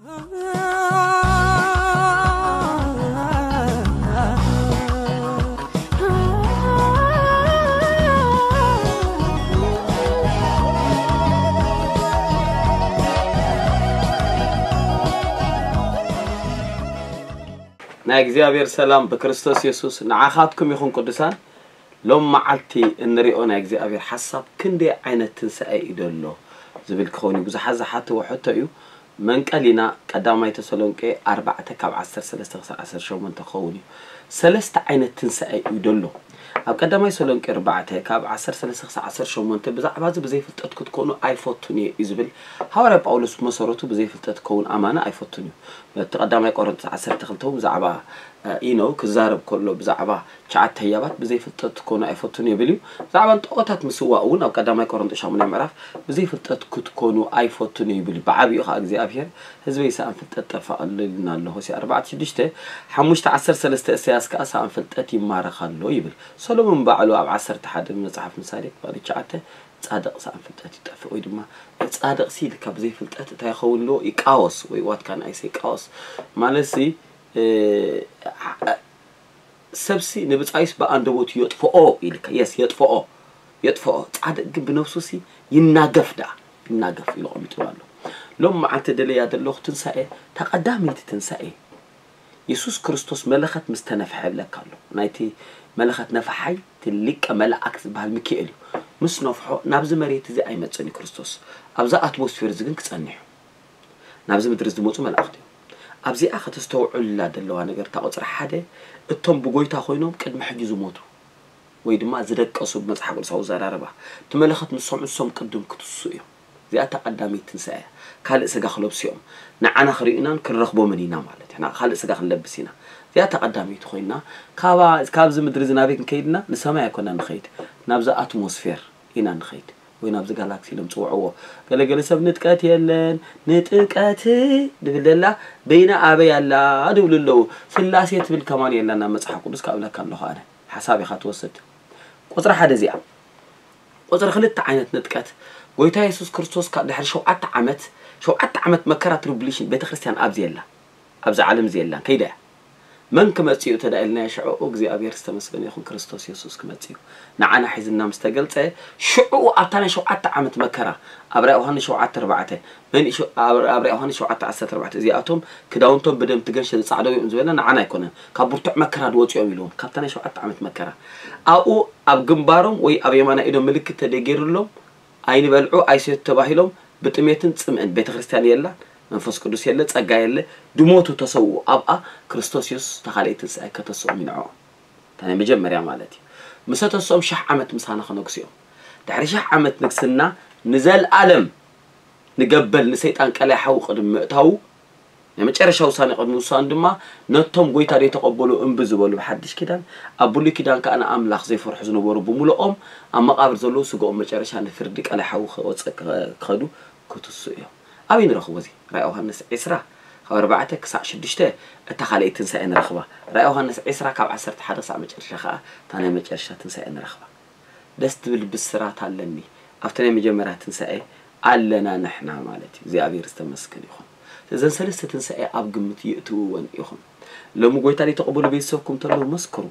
ናይ እግዚኣብሔር ሰላም ብክርስቶስ የሱስ ንዓኻትኩም ይኹን ቅዱሳን። ሎም መዓልቲ እንሪኦ ናይ እግዚኣብሔር ሓሳብ ክንደይ ዓይነት ትንሳኤ እዩ ደሎ ዝብል ክኸውን እዩ። ብዙሓት ዝሓትዎ ሕቶ እዩ። መንቀሊና ቀዳማይ ተሰሎንቄ ኣርባዕተ ካብ ዓሰርተ ሰለስተ ክሳብ ዓሰርተ ሸሞንተ ክኸውን እዩ። ሰለስተ ዓይነት ትንሳኤ እዩ ደሎ። ኣብ ቀዳማይ ተሰሎንቄ ኣርባዕተ ካብ ዓሰርተ ሰለስተ ክሳብ ዓሰርተ ሸሞንተ ብዛዕባ እዚ ብዘይፍልጠት ክትኮኑ ኣይፈቱን እየ እዩ ዝብል። ሃዋርያ ጳውሎስ ብመሰረቱ ብዘይፍልጠት ክኸውን ኣማኒ ኣይፈቱን እዩ። እቲ ቀዳማይ ቆሮንቶስ ዓሰርተ ክልተ እውን ብዛዕባ ኢኖ ክዛረብ ከሎ ብዛዕባ ትሽዓተ ህያባት ብዘይፍልጠት ክትኮኑ ኣይፈቱን ይብል እዩ። ብዛዕባ ንጠቆታት ምስዋእ እውን ኣብ ቀዳማይ ቆሮንቶስ ሻሙናይ ምዕራፍ ብዘይፍልጠት ክትኮኑ ኣይፈቱን ይብል እዩ። ብዓቢኡ ከዓ እግዚኣብሔር ህዝበይ ሰኣን ፍልጠት ጠፋ ኣሎ ኢልና ኣሎ። ሆሴ ኣርባዕተ ሽዱሽተ ሓሙሽተ ዓሰርተ ሰለስተ እሰያስ ከዓ ሰኣን ፍልጠት ይማረኽ ኣሎ ይብል። ሰሎሞን ባዕሉ ኣብ ዓሰርተ ሓደ መጽሓፍ ምሳሌ ክፋል ትሽዓተ ጻድቕ ሰኣን ፍልጠት ይጠፍእ ወይ ድማ ጻድቕ ሲ ኢልካ ብዘይፍልጠት እንታይ ይኸውን ኣለዎ? ይቃወስ ወይ what can I say ይቃወስ ማለት ሲ ሰብሲ ንብጻዩስ ብኣንደበቱ የጥፍኦ ኢልካ የስ የጥፍኦ የጥፍኦ ጻድቅ ግን ብነብሱ ሲ ይናገፍ ደኣ ይናገፍ ኢሉ ቀሚጥሉ ኣሎ። ሎም መዓልቲ ደለያ ዘለኹ ትንሳኤ ተቐዳመይቲ ትንሳኤ የሱስ ክርስቶስ መለኸት ምስ ተነፍሐ ይብለካ ኣሎ። ናይቲ መለኸት ነፋሓይ እቲ ሊቀ መላእክት ዝበሃል ሚካኤል እዩ። ምስ ነፍሖ ናብዚ መሬት እዚ ኣይመጽእን እዩ ክርስቶስ። ኣብዚ ኣትሞስፌር እዚ ግን ክጸንሕ እዩ። ናብዚ ምድሪ ዝመፁ መላእኽቲ እዮም። ኣብዚኣ ከተስተውዕሉላ ዘለዋ ነገር እታ ቁፅሪ ሓደ እቶም ብጎይታ ኮይኖም ቅድሚ ሕጂ ዝሞቱ ወይ ድማ ዝደቀሱ ብመፅሓፍ ቅዱሳዊ ዘራረባ እቲ መለኸት ምስ ሰምዑ ንሶም ቅድም ክትሱ እዮም። እዚኣ እታ ቀዳመይቲ ትንሳኤ እያ። ካልእ ስጋ ክለብሱ እዮም። ንዓና ክርእዩናን ክንረኽቦምን ኢና ማለት እዩ። ካልእ ስጋ ክንለብስ ኢና። እዚኣ እታ ቀዳመይቲ ኮይና ካብዚ ምድሪ እዚ ናበይ ክንከይድ ኢና? ንሰማይ ኣይኮና ንኸይድ፣ ናብዚ ኣትሞስፌር ኢና ንኸይድ። ወይ ናብዚ ጋላክሲ ኢሎም ፅውዕዎ። ገለገለ ሰብ ንጥቀት የለን ንጥቀት ድብል ደላ በይና ኣበይ ኣላ ድብሉ ኣለዉ። ስላሴ ትብል ከማን የላን ናብ መፅሓፍ ቅዱስ ካብለካ ኣለኹ ኣነ ሓሳብ ኢኻ ትወስድ። ቁፅሪ ሓደ እዚኣ። ቁፅሪ ክልተ ዓይነት ንጥቀት ጎይታ የሱስ ክርስቶስ ካብ ድሕሪ ሸውዓተ ዓመት ሸውዓተ ዓመት መከራ ትሪቡሊሽን ቤተክርስትያን ኣብዚ የላ ኣብዚ ዓለም እዚ የላን ከይዳ እያ። መን ክመጽእ እዩ ተዳኢልናዮ ሽዑኡ እግዚኣብሔር ዝተመስገነ ይኹን ክርስቶስ የሱስ ክመጽእ እዩ። ንዓና ሒዝና ምስ ተገልጸ ሽዑኡ ኣብታ ናይ ሸውዓተ ዓመት መከራ ኣብራ ዮሃንስ ሸውዓተ ኣርባዕተ መን ኣብ ዮሃንስ ሸውዓተ ዓሰርተ ኣርባዕተ እዚኣቶም ክዳውንቶም ብደም ትገንሸ ዝጻዕደው እዮም ዝበለ ንዓና ኣይኮነን ካብ ብርቱዕ መከራ ድወጽኦም ኢልዎም ካብታ ናይ ሸውዓተ ዓመት መከራ ኣብኡ ኣብ ግንባሮም ወይ ኣብ የማና ኢዶም ምልክት ተደገይሩሎም ኣይንበልዑ ኣይሰቱ ተባሂሎም ብጥሜትን ጽምእን ቤተክርስትያን የላን መንፈስ ቅዱስ የለ ጸጋ የለ ድሞቱ ተሰውኡ ኣብኣ ክርስቶስ የሱስ ተኻልኤ ትንሳኤ ከተስኦም ይንዕኦም እታ ናይ መጀመርያ ማለት እዩ ምሰ ተስኦም ሽሕ ዓመት ምሳና ክነግሱ እዮም ድሕሪ ሽሕ ዓመት ንግስና ንዘልኣለም ንገበል ንሰይጣን ቀላይ ሓዊ ቅድሚ ምእታዉ ናይ መጨረሻ ውሳኔ ቅድሚ ውሳኑ ድማ ነቶም ጎይታ ዘይተቐበሉ እምቢ ዝበሉ ብሓድሽ ኪዳን ኣብ ብሉይ ኪዳን ከዓ ንኣምላኽ ዘይፈርሑ ዝነበሩ ብምልኦም ኣብ መቓብር ዘለዉ ስግኦም መጨረሻ ንፍርዲ ቀላይ ሓዊ ክወፅእ ክኸዱ ክትሱ እዮም። ኣበይ ንረኽቦ እዚ? ራእይ ዮሃንስ ዕስራ ካብ ኣርባዕተ ክሳዕ ሽዱሽተ እታ ካልኣይ ትንሳኤ ንረኽባ። ራእይ ዮሃንስ ዕስራ ካብ ዓሰርተ ሓደ ክሳዕ መጨረሻ ከዓ እታ ናይ መጨረሻ ትንሳኤ ንረኽባ። ደስ ትብል ብስራት ኣለኒ ኣብቲ ናይ መጀመርያ ትንሳኤ ኣለና ንሕና ማለት እዩ እግዚኣብሔር ዝተመስገን ይኹን እዘን ሰለስተ ትንሳኤ ኣብ ግምት ይእትውወን ኢኹም ሎሚ ጎይታ ዘይተቐበሉ ቤተሰብኩም ተለዉ መስክሩ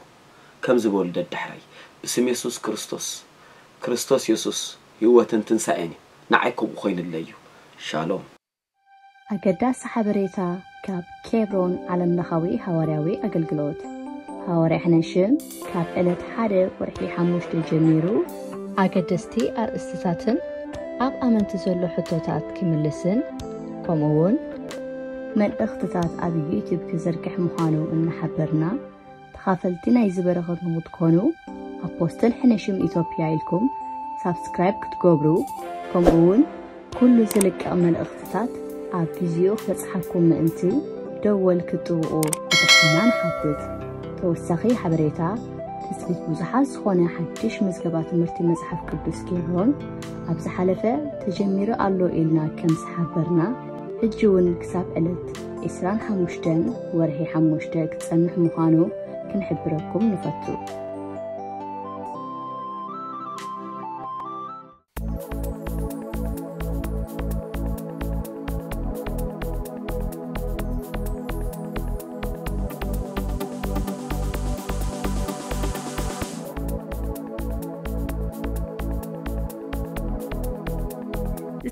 ከም ዝበሉ ደድሕረይ ብስም የሱስ ክርስቶስ ክርስቶስ የሱስ ህይወትን ትንሳኤን እዩ ንዓይ ከምኡ ኮይንለይ እዩ ሻሎም ኣገዳሲ ሓበሬታ ካብ ኬብሮን ዓለምለኻዊ ሃዋርያዊ ኣገልግሎት። ሃዋርያ ሕነሽም ካብ ዕለት ሓደ ወርሒ ሓሙሽተ ጀሚሩ፣ ኣገደስቲ ኣርእስትታትን ኣብ ኣመንቲ ዘሎ ሕቶታት ክምልስን፣ ከምኡውን መልእኽትታት ኣብ ዩቱብ ክዝርግሕ ምዃኑ እናሓበርና፣ ተኻፈልቲ ናይዚ በረኸት ንኽትኮኑ ኣፖስትል ሕነ ሽም ኢትዮጵያ ኢልኩም ሳብስክራይብ ክትገብሩ ከምኡ እውን ኩሉ ዝልቀቕ መልእኽትታት ኣብ ግዚኡ ክበጽሓኩም ምእንቲ ደወል ክትጥውቑ ብትሕትና ንሓትት። ተወሳኺ ሓበሬታ ትጽቢት ብዙሓት ዝኾነ ሓድሽ ምዝገባ ትምህርቲ መጽሓፍ ቅዱስ ኬብሮን ኣብ ዝሓለፈ ተጀሚሩ ኣሎ ኢልና ከም ዝሓበርና ሕጂ እውን ክሳብ ዕለት ዕስራን ሓሙሽተን ወርሒ ሓሙሽተ ክጸንሕ ምዃኑ ክንሕብረኩም ንፈቱ።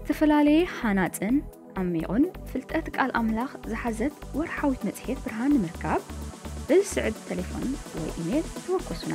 ዝተፈላለየ ሃናጽን ዓሚቑን ፍልጠት ቃል ኣምላኽ ዝሓዘት ወርሓዊት መጽሔት ብርሃን ንምርካብ ብዝስዕብ ተሌፎን ወይ ኢሜል ተወከሱና።